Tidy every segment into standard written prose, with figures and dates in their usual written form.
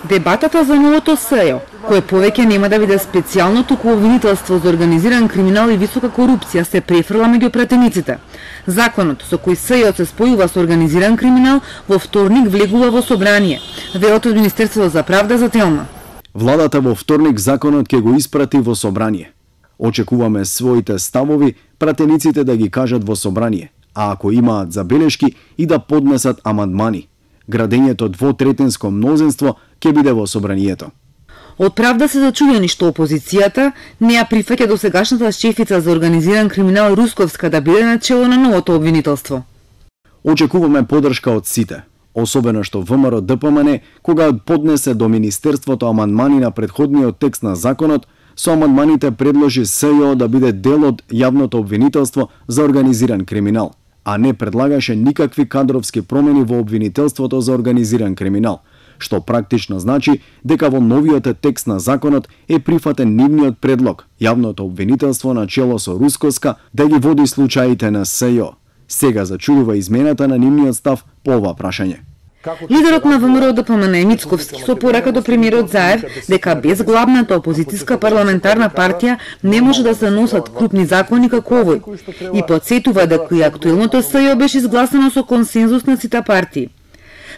Дебатата за новото СЈО, кое повеќе нема да биде специјално туку обвинителство за организиран криминал и висока корупција, се префрла меѓу пратениците. Законот со кој СЈО се спојува со организиран криминал во вторник влегува во собрание, велат од Министерството за правда за Телма. Владата во вторник законот ќе го испрати во собрание. Очекуваме своите ставови пратениците да ги кажат во собрание, а ако имаат забелешки и да поднесат амандмани. Градењето двотретенско мнозинство ќе биде во собранието. Од правда се зачудени што опозицијата не ја прифаќа досегашната шефица за организиран криминал Русковска да биде начело на новото обвинителство. Очекуваме поддршка од сите, особено што ВМРО ДПМН кога поднесе до Министерството амандмани на претходниот текст на законот, со амандманите предложи СЈО да биде дел од јавното обвинителство за организиран криминал, а не предлагаше никакви кадровски промени во обвинителството за организиран криминал, што практично значи дека во новиот текст на законот е прифатен нивниот предлог, јавното обвинителство на чело со Русковска да ги води случаите на СЈО. Сега зачудува измената на нивниот став по ова прашање. Лидерот на ВМРО ДПМН Мицковски со порака до премиерот Заев дека без главната опозицијска парламентарна партија не може да се носат крупни закони како овој и потсетува дека и актуелното СЈО беше изгласано со консензус на сите партии.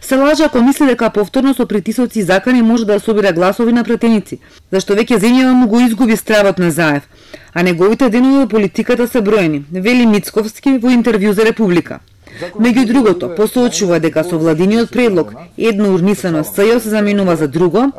Се лажа ако мисли дека повторно со притисоци и закани може да собира гласови на пратеници, зашто веќе земјава му го изгуби стравот на Заев, а неговите денови во политиката се броени, вели Мицковски во интервју за Република. Меѓу другото, посочува дека со владиниот предлог едно урнисано СЈО се заменува за друго,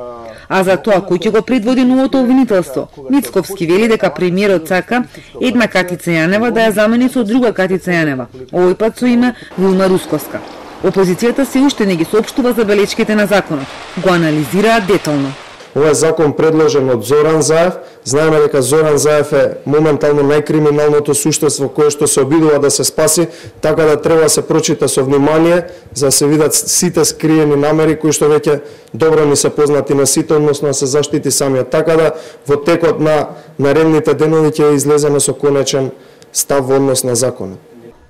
а за тоа кој ќе го предводи новото обвинителство, Мицковски вели дека премиерот сака една Катица Јанева да ја замени со друга Катица Јанева, овој пат со име Вилма Русковска. Опозицијата се уште не ги соопштува забелечките на законот, го анализираат детално. Ова е закон предложен од Зоран Заев. Знаеме дека Зоран Заев е моментално најкриминалното суштество кое што се обидува да се спаси, така да треба да се прочита со внимание за да се видат сите скриени намери кои што веќе добро ни се познати на сите, односно да се заштити самиот. Така да во текот на наредните денови ќе излеземе со конечен став во однос на законот.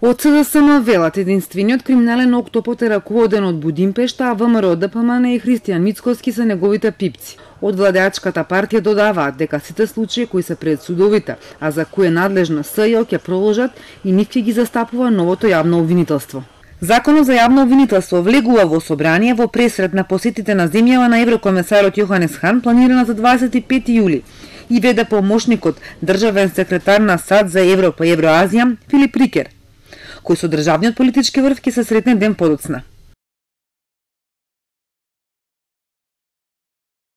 Од СДСМ велат единствениот криминален октопот е раководен од Будимпешта, а ВМРО ДПМН и Христијан Мицковски се неговите пипци. Од владеачката партија додаваат дека сите случаи кои се пред судовите, а за кои е надлежна СЈО ќе продолжат и нив ќе ги застапува новото јавно обвинителство. Законот за јавно обвинителство влегува во собрание во пресред на посетите на земјава на еврокомесарот Јоханес Хан планирана за 25 јули и веде помошникот државен секретар на САД за Европа и Евроазија Филип Рикер, кој со државниот политички врв ќе се сретне ден подоцна.